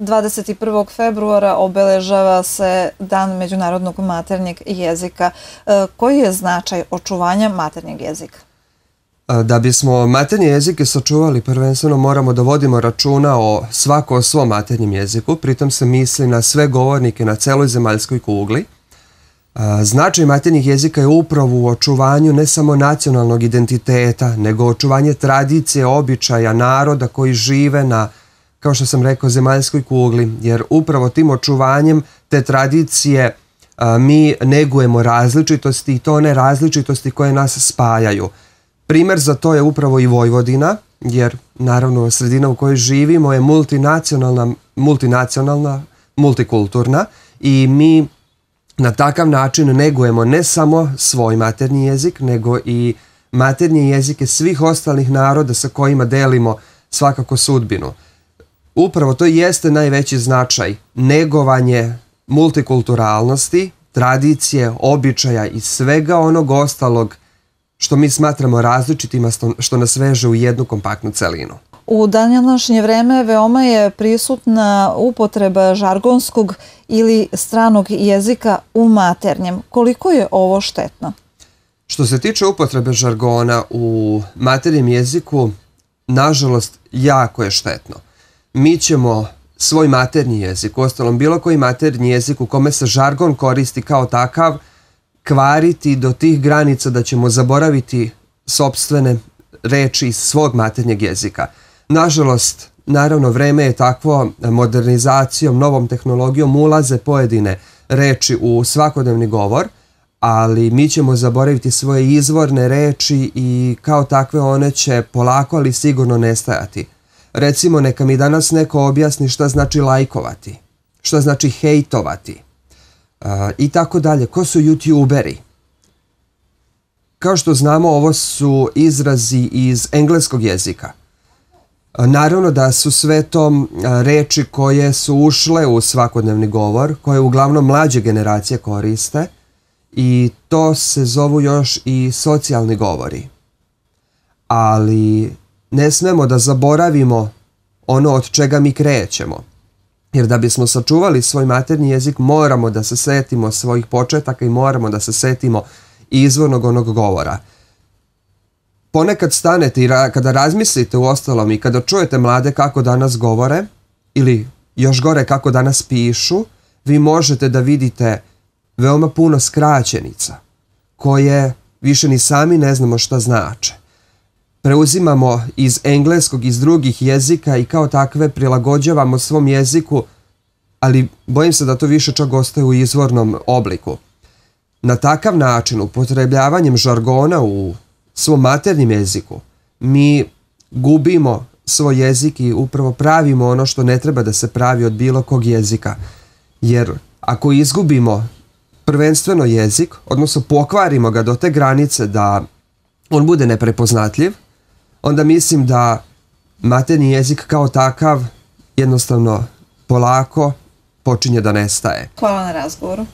21. februara obeležava se Dan međunarodnog maternjeg jezika. Koji je značaj očuvanja maternjeg jezika? Da bismo maternje jezike sačuvali, prvenstveno moramo da vodimo računa o svako o svom maternjem jeziku, pritom se misli na sve govornike na celoj zemaljskoj kugli. Značaj maternjih jezika je upravo u očuvanju ne samo nacionalnog identiteta, nego očuvanje tradicije, običaja, naroda koji žive na, kao što sam rekao, zemaljskoj kugli, jer upravo tim očuvanjem te tradicije mi negujemo različitosti i to one različitosti koje nas spajaju. Primer za to je upravo i Vojvodina, jer naravno sredina u kojoj živimo je multinacionalna, multikulturna i mi na takav način negujemo ne samo svoj maternji jezik, nego i maternje jezike svih ostalih naroda sa kojima delimo svakako sudbinu. Upravo to jeste najveći značaj, negovanje multikulturalnosti, tradicije, običaja i svega onog ostalog što mi smatramo različitima, što nas veže u jednu kompaktnu celinu. U današnje vreme veoma je prisutna upotreba žargonskog ili stranog jezika u maternjem. Koliko je ovo štetno? Što se tiče upotrebe žargona u maternjem jeziku, nažalost, jako je štetno. Mi ćemo svoj maternji jezik, uostalom bilo koji maternji jezik u kome se žargon koristi kao takav, kvariti do tih granica da ćemo zaboraviti sopstvene reči iz svog maternjeg jezika. Nažalost, naravno, vreme je takvo, modernizacijom, novom tehnologijom ulaze pojedine reči u svakodnevni govor, ali mi ćemo zaboraviti svoje izvorne reči i kao takve one će polako, ali sigurno nestajati. Recimo, neka mi danas neko objasni šta znači lajkovati, šta znači hejtovati i tako dalje. Ko su youtuberi? Kao što znamo, ovo su izrazi iz engleskog jezika. Naravno da su sve to reči koje su ušle u svakodnevni govor, koje uglavnom mlađe generacije koriste i to se zovu još i socijalni govori. Ali ne smemo da zaboravimo ono od čega mi krećemo. Jer da bismo sačuvali svoj maternji jezik moramo da se setimo svojih početaka i moramo da se setimo izvornog onog govora. Ponekad stanete i kada razmislite u ostalom i kada čujete mlade kako danas govore ili još gore kako danas pišu, vi možete da vidite veoma puno skraćenica koje više ni sami ne znamo šta znače. Preuzimamo iz engleskog, iz drugih jezika i kao takve prilagođavamo svom jeziku, ali bojim se da to više čak ostaje u izvornom obliku. Na takav način, upotrebljavanjem žargona u svom maternjem jeziku, mi gubimo svoj jezik i upravo pravimo ono što ne treba da se pravi od bilo kog jezika. Jer ako izgubimo prvenstveno jezik, odnosno pokvarimo ga do te granice da on bude neprepoznatljiv, onda mislim da maternji jezik kao takav jednostavno polako počinje da nestaje. Hvala na razgovoru.